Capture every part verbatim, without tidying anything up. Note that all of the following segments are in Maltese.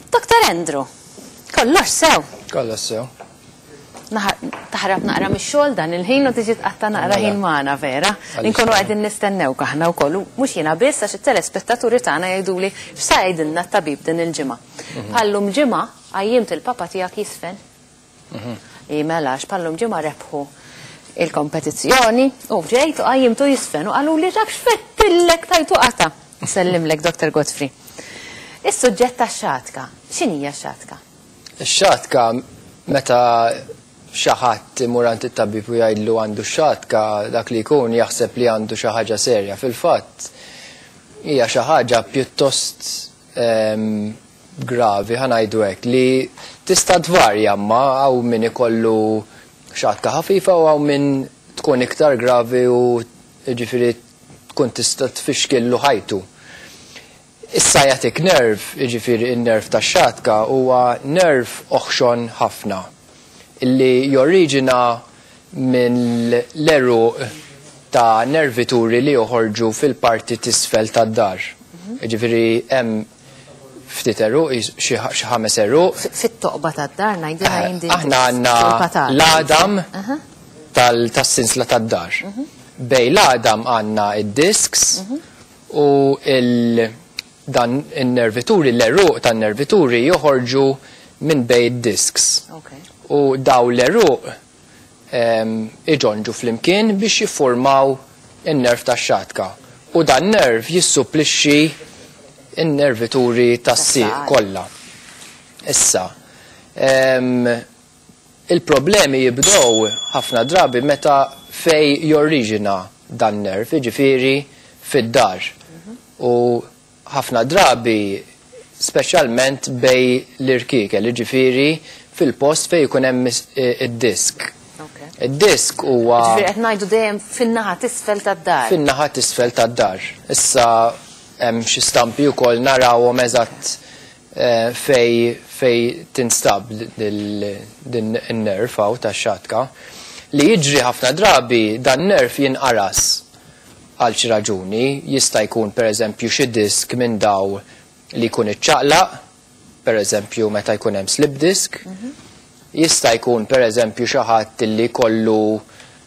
Doktor Andrew, kollox sew. Kollox sew. Taħrab naqra mix-xogħol dan il-ħin u tiġi tqatta' naqra ħin magħna vera. Inkunu qegħdin nistennewk aħna wkoll, mhux jiena biss għax it-telespettaturi tagħna jgħiduli x'sa jgħidilna t-tabib din il-ġimgħa. Bħallum ġimgħa qajjimt il-papa tiegħek jisfen. Mela għax bħallum ġimgħa rebħu il-kompetizzjoni u ġejt u qajjimtu jisfen u qaluli dak x'fettillek tajtu qata. Nsellimlek Doktor Godfrey. Is-suġġett tax-xatka, x'inhija x-xatka? Ix-xatka meta xi ħadd imur għand it-tabib u jgħidlu għandu x-xatka, dak li jkun jaħseb li għandu xi ħaġa serja. Fil-fatt hija xi ħaġa pjuttost gravi, ħa ngħidu hekk, li tista' tvarja, ma hawn min ikollu xatka ħafifa u hawn min tkun iktar gravi u jiġifieri tkun tista' tfixkillu ħajtu. Is-sciatic nerve, jiġifieri n-nerv tax-xatka, huwa nerv oħxon ħafna illi joriġina minn l-eruq ta' nervituri li joħorġu fil-parti tisfel tad-dar. Jiġifieri hemm ftit eruq, xi ħames eruq. Fit-toqba tad-dar ngħidilha jien din. Aħna għandna l-għadam tas-sinsla tad-dar. Bej l-għadam għandna id-disks u dan in-nervituri, l-eruq tan-nervituri joħorġu minn bej id-disks. U daw l-eruq iġonġu flimkien biex jiffurmaw in-nerv tax-xatka. U dan nerv jissupplixxi in-nervituri tas-sieq kollha. Issa, il-problemi jibdew ħafna drabi meta fej jorriġina dan nerv, jiġifieri fid-dar. U ħafna drabi speċjalment bej l-irkiekel, jiġifieri fil-post fej jkun hemm id-disk. Id-disk huwa Ġifieri qed ngħidu dejjem fin-naħa t'isfel tad-dar. Fin-naħa t'isfel tad-dar. Issa hemm xi stampi wkoll narawhom eżatt fej fej tinstab din in-nerv hawn tax-xatka. Li jiġri ħafna drabi dan nerv jinqaras għal xi raġuni, jista' jkun pereżempju xi disk minn daw li jkun iċċaqlaq, pereżempju meta jkun hemm slip disc, jista' jkun pereżempju xi ħadd li jkollu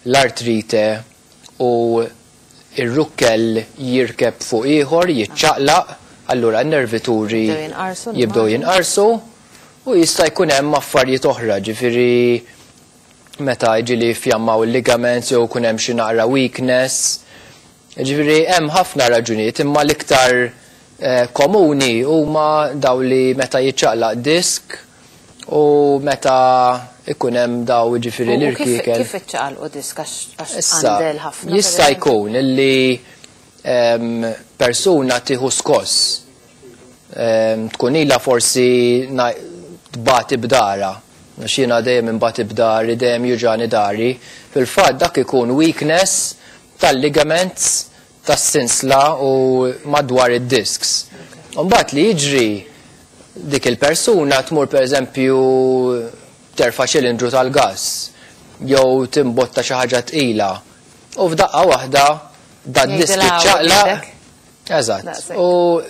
l-artrite u ir-rukkel jirkeb fuq ieħor, jiċċaqlaq, allura n-nervituri jibdew jinqarsu u jista' jkun hemm affarijiet oħra, ġifieri meta jiġi fjammaw il-ligaments jew jkun hemm xi naqra weakness. Ġifieri hemm ħafna raġunijiet, imma l-iktar komuni huma daw li meta jiċċaqlaq disk u meta ikun hemm daw ġifieri l-irkiekel. Kif iċċaqalqu disk għax għandel ħafna? Jista' jkun illi persuna tieħu skoss, tkun ilha forsi tbati b'dara, għax jiena dejjem inbati b'dari, dejjem juġani dari. Fil-fatt dak ikun weakness tal-ligaments tas-sinsla u madwar id-disks. Mbagħad li jiġri dik il-persuna tmur pereżempju terfa' ċilindru tal-gass jew timbotta xi ħaġa tqila u f'daqqa waħda dan disk iċċaqlaq. Eżatt. U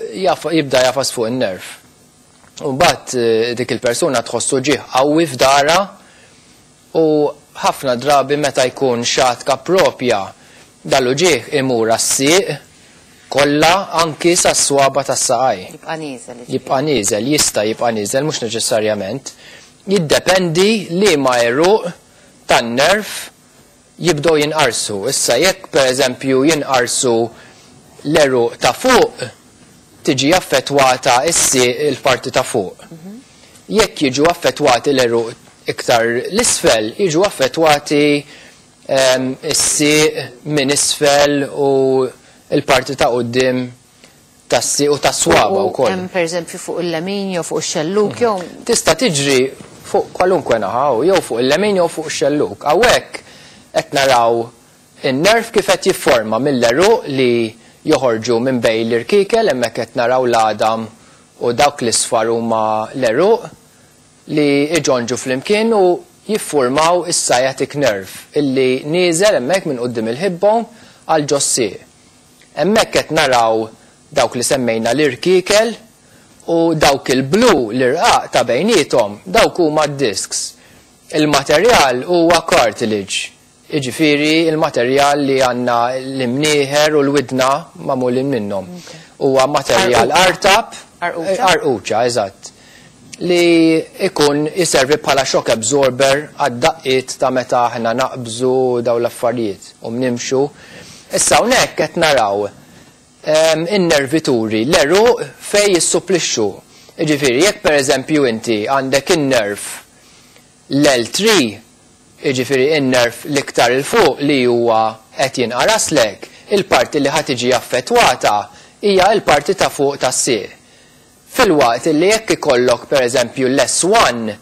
jibda jafas fuq in-nerv. U mbagħad dik il-persuna tħossu ġieħ qawwi f'dara u ħafna drabi meta jkun xatka propja dal-uġieħ imur għas-sieq kollha anki sas-swaba tas-saqaj. Jibqa' nieżel. Jibqa' nieżel, jista' jibqa' nieżel, mhux neċessarjament. Jiddependi li ma eruq tan-nerv jibdew jinqarsu. Issa jekk pereżempju jinqarsu l-eruq ta' fuq, tiġi affettwata s-sieq il-parti ta' fuq. Jekk jiġu affettwati l-eruq iktar l-isfel, jiġu affettwati is-sieq minn isfel u l-parti ta' quddiem tas-sieq u tas-swaba wkoll. Hemm pereżempju fuq il-lemin jew fuq ix-xelluk jew Tista' tiġri fuq kwalunkwe naħa, jew fuq il-lemin jew fuq ix-xelluk. Hawnhekk qed naraw in-nerv kif qed jifforma mill-eruq li joħorġu minn bejn l-irkiekel, hemmhekk qed naraw l-għadam u dawk l-isfar huma l-eruq li iġonġu flimkien u jiffurmaw is-sciatic nerve illi nieżel hemmhekk minn quddiem il-hip bone għal ġos-sieq. Hemmhekk qed naraw dawk li semmejna l-irkiekel U dawk il-blu l-irqaq ta' bejniethom, dawk huma d-disks. Il-materjal huwa cartilage. Jiġifieri il-materjal li għandna l-imnieħer u l-widna magħmulin minnhom. Huwa materjal artab, arquċa, eżatt, li ikun jiservi bħala shock absorber għad-daqqiet ta' meta aħna naqbżu daw l-affarijiet u nimxu. Issa hawnhekk qed naraw in-nervituri, l-għeruq fej jissupplixxu. Jiġifieri jekk pereżempju inti għandek in-nerv l-L three, jiġifieri in-nerv l-iktar il fuq li huwa qed jinqaraslek, il-parti li ħa tiġi affettwata hija l-parti ta' fuq tas-sieq. Fil-waqt li jekk ikollok pereżempju l-S one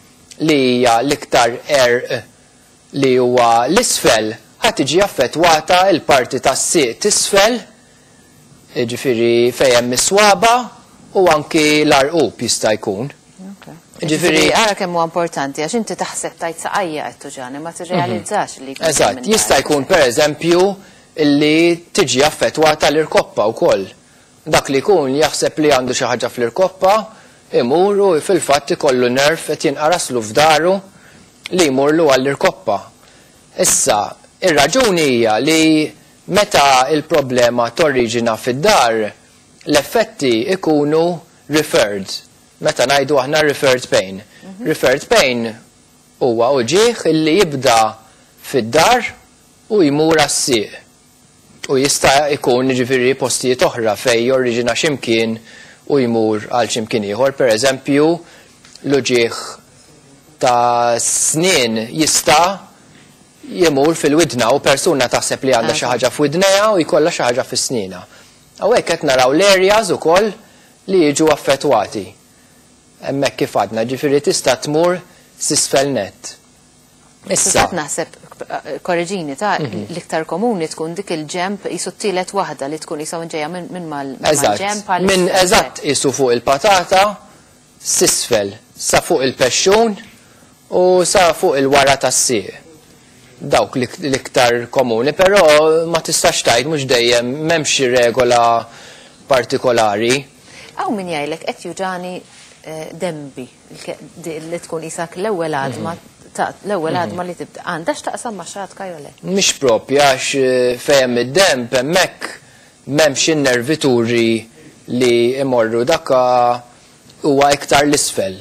li hija l-iktar għerq li huwa l-isfel, ħa tiġi affettwata l-parti tas-sieq tisfel, jiġifieri fejn hemm is-swaba u anki l-arqub jista' jkun. Jiġifieri ara kemm huwa importanti għax inti taħseb tajt saqajja qed tuġani ma tirrealizzax li jkun. Eżatt, jista' jkun pereżempju li tiġi affettwata l-irkoppa wkoll. Dak li jkun jaħseb li għandu xi ħaġa fl-irkoppa, imur u fil-fatt ikollu nerv qed jinqaraslu f'daru li jmurlu għall-irkoppa. Issa, ir-raġuni hija li meta il-problema torriġina fid-dar, l-effetti ikunu referred. Meta ngħidu aħna referred pain. Referred pain huwa uġigħ illi jibda fid-dar u jmur għas-sieq. U jista' jkun jiġifieri postijiet oħra fejn jorriġina x'imkien u jmur għal x'imkien ieħor. Pereżempju, l-uġigħ ta' snien jista' jimur fil-widna u persuna taħseb li għandha xi ħaġa f'widnejha u jkollha xi ħaġa fis-snina. Hawnhekk qed naraw l-areas ukoll li jiġu affettwati. Hemmhekk kif għadna, ġifieri tista' tmur s'isfel nett. Issa naħseb, korreġini ta' l-iktar komuni tkun dik il-ġemp jisu t-tielet waħda li tkun jisu ġejja minn mal-ġemp. Minn eżatt jisu fuq il-patata, s'isfel, sa fuq il-pexxun u sa fuq il-wara tas-sieq. Dawk l-iktar komuni, però ma tistax tgħid mhux dejjem m'hemmx xi regola partikolari. Hawn min jgħidlek qed juġani dembi li tkun isak l-ewwel għadma l-ewwel għadma li tibda għandha x'taqsam ma' xatka jew le? Mhix propja għax fejn id-demb hemmhekk m'hemmx in-nervituri li imorru, dakka huwa iktar l-isfel.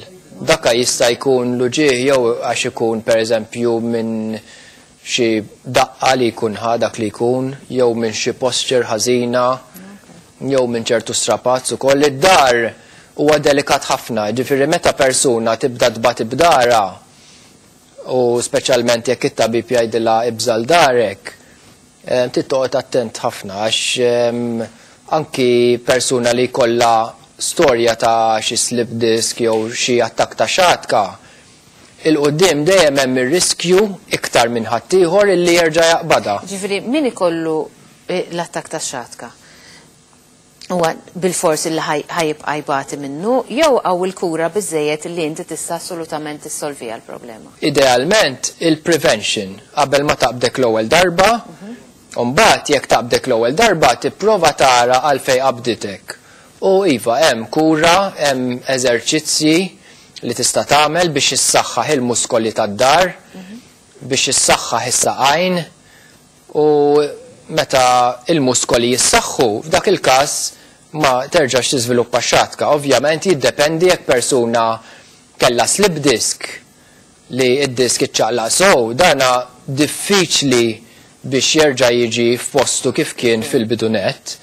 Dakka jista' jkun l-uġigħ jew għax ikun pereżempju minn xi daqqa li jkun ħa dak li jkun, jew minn xi posture ħażina, jew minn ċertu strapazz ukoll. Id-dar huwa delikat ħafna, ġifieri meta persuna tibda tbati b'dara, u speċjalment jekk it-tabib jgħidilha ibżal darek, trid toqgħod attent ħafna għax anki persuna li jkollha storja ta' xi slip disc jew xi attakk ta' xatka, il-qudiem dejjem hemm ir-riskju iktar minn ħaddieħor illi jerġa' jaqbadha. Ġifieri min ikollu l-attakk ta' xatka huwa bil-fors illi ħajibqa' jbati minnu jew hawn il-kura biżejjed li inti tista' assolutament tissolviha l-problema? Idealment il-prevention qabel ma taqbdek l-ewwel darba, u mbagħad jekk taqbdek l-ewwel darba tipprova tara għalfejn qabditek. U iva hemm kura, hemm eżerċizzji li tista' tagħmel biex issaħħaħ il-muskoli tad-dar, biex issaħħaħ is-saqajn, u meta il-muskoli jissaħħu, f'dak il-każ ma terġax tiżviluppa xatka. Ovvjament jiddependi jekk persuna kellha slip disc li id-disk iċċaqlaq sew, dana diffiċli biex jerġa' jiġi f'postu kif kien fil-bidunet.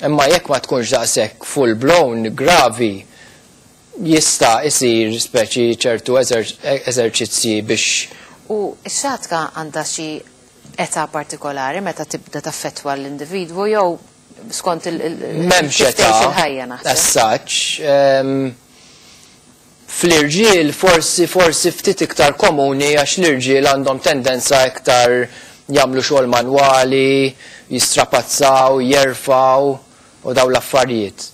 Imma jekk ma tkunx daqshekk full blown gravi, jista' isir speċi ċertu eżerċizzji biex. U x-xatka għandha xi età partikolari meta tibda taffettwa l-individwu jew skont M'hemmx età il-ħajja naħseb? As such, fl-irġiel forsi forsi ftit iktar komuni għax l-irġiel għandhom tendenza iktar jagħmlu xogħol manwali, jistrapazzaw, jerfaw u daw l-affarijiet.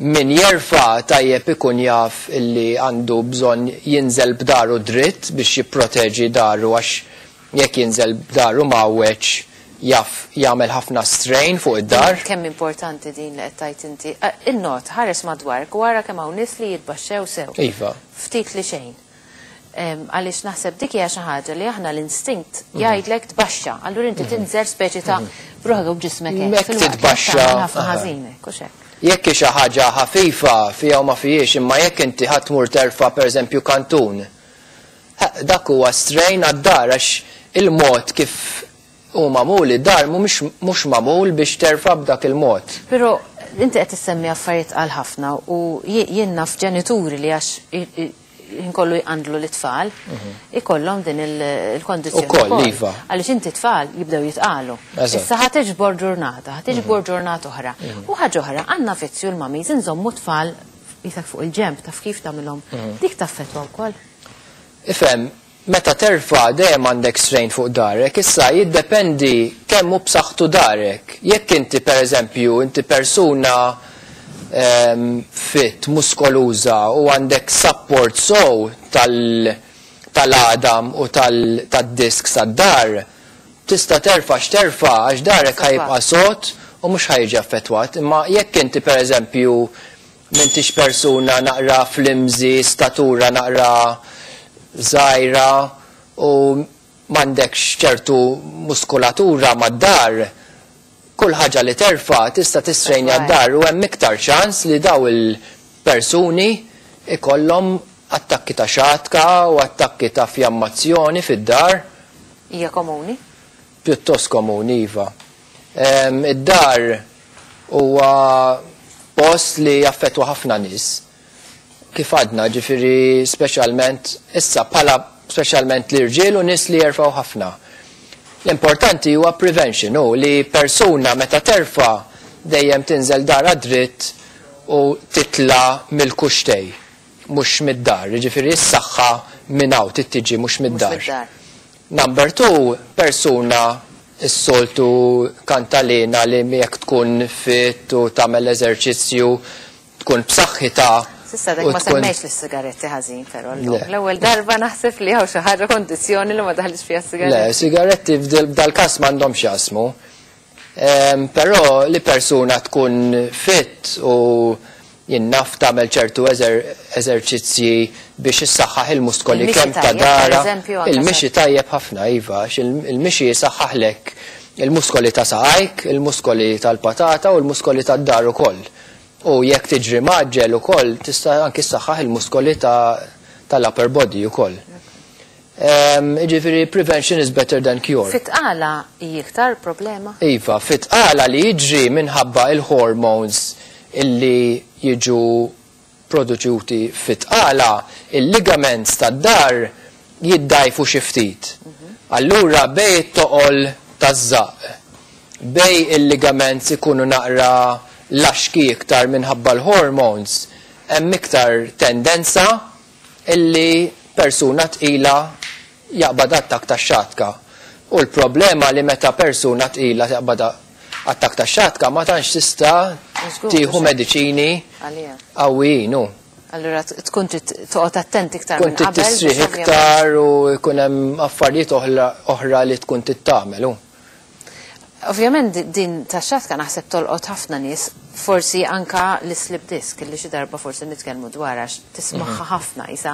Min jerfa tajjeb ikun jaf illi għandu bżonn jinżel b'daru dritt biex jipproteġi daru, għax jekk jinżel b'daru mawweġ jaf jagħmel ħafna strain fuq id-dar. Kemm importanti din li qed tgħid inti. In-not ħares madwarek u ara kemm hawn nies li jitbaxxew sew. Iva. Ftit li xejn. Għaliex naħseb dik hija xi ħaġa li aħna l-instinct jgħidlek tbaxxa. Allura inti tinżel speċi ta' bruħek u b'ġismek hekk. Titbaxxa ħafna ħażin hekk u x'hekk. Jekk xi ħaġa ħafifa fiha u ma fihiex, imma jekk inti ħadd tmur terfa' pereżempju kantun, dak huwa strain għad-dar għax il-mod kif hu magħmul id-dar mhux magħmul biex terfa' b'dak il-mod. Però inti qed issemmi affarijiet għal ħafna u jien naf ġenituri li għax inkollu jqandlu l-tfal, ikollhom din il-kondizzjoni. Ukoll, iva. Għaliex inti tfal jibdew jitqalu. Issa ħa tiġbor ġurnata, ħa tiġbor ġurnata oħra. U ħaġa oħra, għandna vizzju l-mamiż inżommu tfal jisak fuq il-ġemp, taf kif tagħmilhom. Dik taffettwa wkoll. Ifhem, meta terfa' dejjem għandek strain fuq darek, issa jiddependi kemm hu b'saħħtu darek. Jekk inti pereżempju inti persuna fit, muskoluża u għandek support sow tal-għadam u tad-disk sad-dar, tista' terfa' x'terfa' għax darek ħajibqa' sod u mhux ħajġi affettwat. Imma jekk inti pereżempju m'intix persuna naqra flimsy, statura naqra żgħira u m'għandekx ċertu muskolatura mad-dar, kull ħaġa li terfa' tista' tistrejnja d-dar u hemm iktar ċans li daw il-persuni ikollhom attakki ta' xatka u attakki ta' fjammazzjoni fid-dar. Hija komuni? Pjuttost komuni, iva. Id-dar huwa post li jaffettwa ħafna nies. Kif għadna, ġifieri speċjalment issa bħala speċjalment l-irġiel u nies li jerfgħu ħafna. L-importanti huwa prevention, u li persuna meta terfa' dejjem tinżel dara dritt u titla' mill-kuxtej, mhux mid-dar, jiġifieri s-saħħa minn hawn tittiġi mhux mid-dar. Number two, persuna s-soltu kantalina li jekk tkun fit u tagħmel eżerċizzju tkun b'saħħitha. Sissa dak ma semmejx lis-sigaretti ħażin, però l-ewwel darba naħseb li hawn xi ħaġa kondizzjoni li ma daħlix fiha s-sigaretti. Le, sigaretti f'dal-każ m'għandhomx jasmu. Però li persuna tkun fit u jien naf tagħmel ċertu eżerċizzji biex issaħħaħ il-muskoli kemm ta' dara. Il-mixi tajjeb ħafna, iva, il-mixi jisaħħaħlek il-muskoli ta' saqajk, il-muskoli tal-patata u l-muskoli tad-dar ukoll. U jekk tiġri maġġel ukoll tista' anki ssaħħaħ il-muskoli tal-upper body ukoll. Jiġifieri prevention is better than cure. Fit-tqala hi iktar problema? Iva, fit-tqala li jiġri minħabba il-hormones illi jiġu produċuti fit-tqala, il-ligaments tad-dar jiddajfu xi ftit. Allura bej it-toqol taż-żaqq, bej il-ligaments ikunu naqra laxki iktar minħabba l-hormones, hemm iktar tendenza illi persuna tqila jaqbad attakk ta' xatka. U l-problema li meta persuna tqila jaqbad attakk ta' xatka ma tantx tista' tieħu mediċini qawwijin. Allura tkun toqgħod attent iktar minn qabel. Tkun tistrieħ iktar u jkun hemm affarijiet oħra li tkun tittamel. Ovvjament din ta' xatka naħseb tolqot ħafna nies, forsi anka l-slip disc li xi darba forsi nitkellmu dwar għax tismaħħa ħafna isa.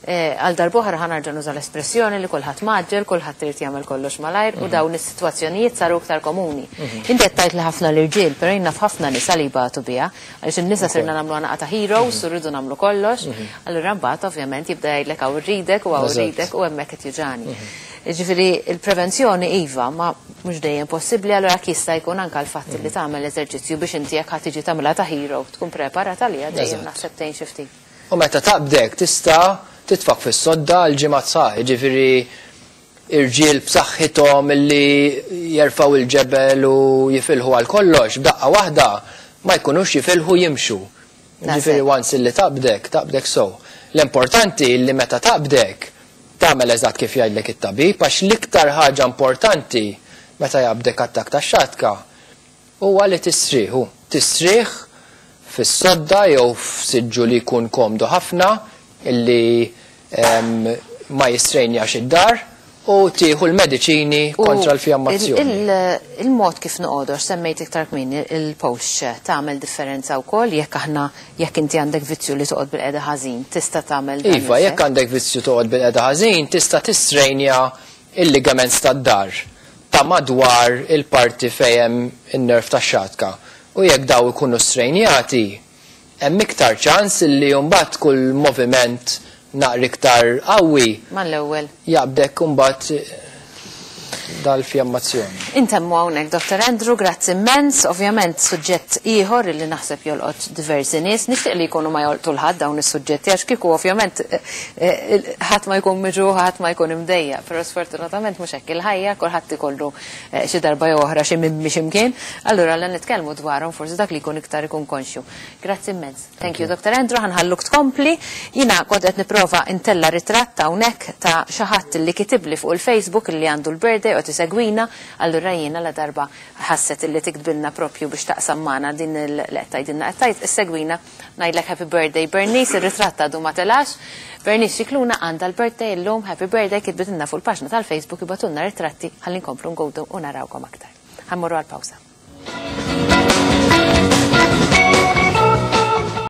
Għal darb'oħra ħa nerġa' nuża l-espressjoni li kulħadd maġġel, kulħadd irid jagħmel kollox malajr u dawn is-sitwazzjonijiet saru iktar komuni. Inti qed tgħid li ħafna l-irġiel, però jien naf ħafna nisa li jbatu biha, għaliex in-nisa sirna nagħmlu għanaqa ta' heroes u rridu nagħmlu kollox, allura mbagħad ovvjament jibda jgħidlek hawn irridek u hawn irridek u hemmhekk qed juġani. Ġifieri il-prevenzjoni iva, ma mhux dejjem possibbli, allura jista' jkun anke l-fatt li tagħmel eżerċizzju biex inti jekk ħadd tiġi tagħmilha ta' hero tkun preparata għaliha dejjem naħseb tgħin xi ftit. U meta taqbdek tista' titfak fis-sodda għal ġimgħat sħaħ, jiġifieri irġiel b'saħħithom illi jerfgħu il-ġebel u jifilħu għal kollox, b'daqqa waħda ma jkunux jifilħu jimxu. Ġifieri once illi taqbdek, taqbdek sew. L-importanti li meta taqbdek tagħmel eżatt kif jgħidlek it-tabib, għax l-iktar ħaġa importanti meta jaqbdek attakk ta' xatka huwa li tistrieħu. Tistrieħ fis-sodda jew f'siġġu li jkun komdu ħafna illi ma jistrejnjax id-dar u tieħu l-mediċini kontra l-fjammazzjoni. Il-mod kif noqogħdu, semmejt iktar kmieni il-posture, tagħmel differenza wkoll jekk aħna, jekk inti għandek vizzju li toqgħod bil-qeda ħażin, tista' tagħmel Iva, jekk għandek vizzju toqgħod bil-qeda ħażin, tista' tistrejnja il-ligaments tad-dahar ta' madwar il-parti fejn hemm in-nerve tax-xatka. U jekk daw ikunu strejnjati, hemm iktar ċans li mbagħad kull moviment naqra iktar qawwi mal-ewwel jaqbdek mbagħad dal-fjammazzjoni. Intemmu hawnhekk, Doktor Andrew, grazzi immens. Ovvjament suġġett ieħor li naħseb jolqot diversi nies, nixtieq li jkunu ma jolqtu 'l ħadd dawn is-suġġetti, għax kieku ovvjament eh, eh, ħadd ma jkun miġuħ, ħadd ma jkun imdejja, però sfortunatament mhux hekk il-ħajja, kulħadd ikollu eh, xi darba jew oħra xi mimmi x'imkien, allura la nitkellmu dwarhom forsi dak li jkun iktar ikun konxju. Grazzi immens. Thank you, Doktor Andrew, ħa nħalluk tkompli. Jiena kont qed nipprova intella ritratt hawnhekk ta' xi ħadd li kitibli fuq il-Facebook li għandu l-birthday u tisegwina, allura jiena la darba ħasset illi tiktbilna propju biex taqsam magħna din il-qed tgħidilna qed tgħid issegwina, ngħidlek happy birthday, Bernice, ir-ritratt għadu ma telax. Bernice Xikluna għandha l-birthday illum, happy birthday, kitbitilna fuq il-paġna tal-Facebook, ibagħtulna ritratti ħalli nkomplu ngawdu u narawkom aktar. Ħa mmorru għal-pawsa.